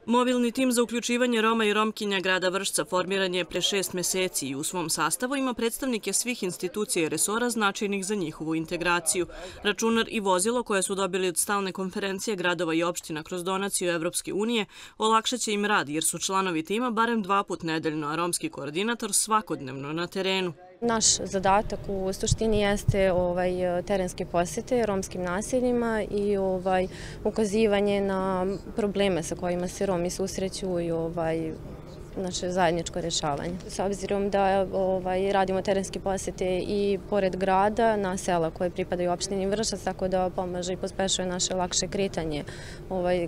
Mobilni tim za uključivanje Roma i Romkinja grada Vršca formiran je pre 6 meseci i u svom sastavu ima predstavnike svih institucija i resora značajnih za njihovu integraciju. Računar i vozilo koje su dobili od stalne konferencije gradova i opština kroz donaciju Evropske unije olakšaće im rad jer su članovi tima barem 2 puta nedeljno, a romski koordinator svakodnevno na terenu. Naš zadatak u suštini jeste terenske posete romskim naseljima i ukazivanje na probleme sa kojima se Romi susreću i naše zajedničko rješavanje. S obzirom da radimo terenske posete i pored grada na sela koje pripadaju opštini Vršac, tako da pomaže i pospešuje naše lakše kretanje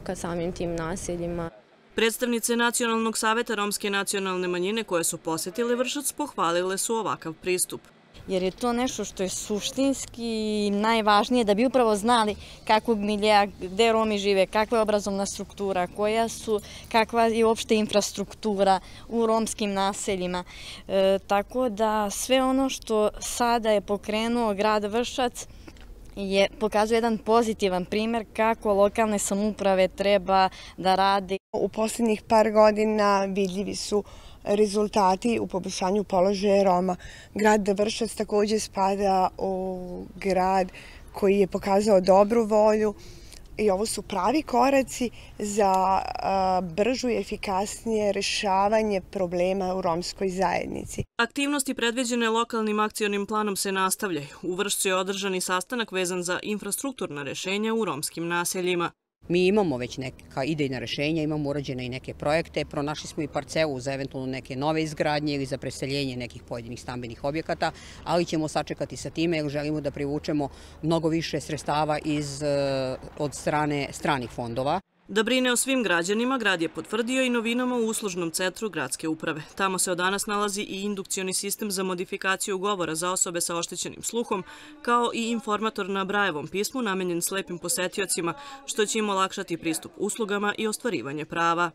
ka samim tim naseljima. Predstavnice Nacionalnog saveta romske nacionalne manjine koje su posetile Vršac pohvalile su ovakav pristup. Jer je to nešto što je suštinski najvažnije da bi upravo znali kakvog miljeja, gde Romi žive, kakva je obrazovna struktura, kakva je uopšte infrastruktura u romskim naseljima. Tako da sve ono što sada je pokrenuo grad Vršac pokazuje jedan pozitivan primjer kako lokalne samouprave treba da rade. U posljednjih par godina vidljivi su rezultati u poboljšanju položaja Roma. Grad Vršac također spada u grad koji je pokazao dobru volju i ovo su pravi koraci za bržu i efikasnije rješavanje problema u romskoj zajednici. Aktivnosti predviđene lokalnim akcionim planom se nastavljaju. U Vršcu je održan i sastanak vezan za infrastrukturna rješenja u romskim naseljima. Mi imamo već neka idejna rješenja, imamo urađene i neke projekte, pronašli smo i parcelu za eventualno neke nove izgradnje ili za preseljenje nekih pojedinih stambenih objekata, ali ćemo sačekati sa time jer želimo da privučemo mnogo više sredstava od strane stranih fondova. Da brine o svim građanima, grad je potvrdio i novinama u uslužnom centru gradske uprave. Tamo se od danas nalazi i indukcioni sistem za modifikaciju govora za osobe sa oštećenim sluhom, kao i informator na Brajevom pismu namenjen slepim posetiocima, što će im olakšati pristup uslugama i ostvarivanje prava.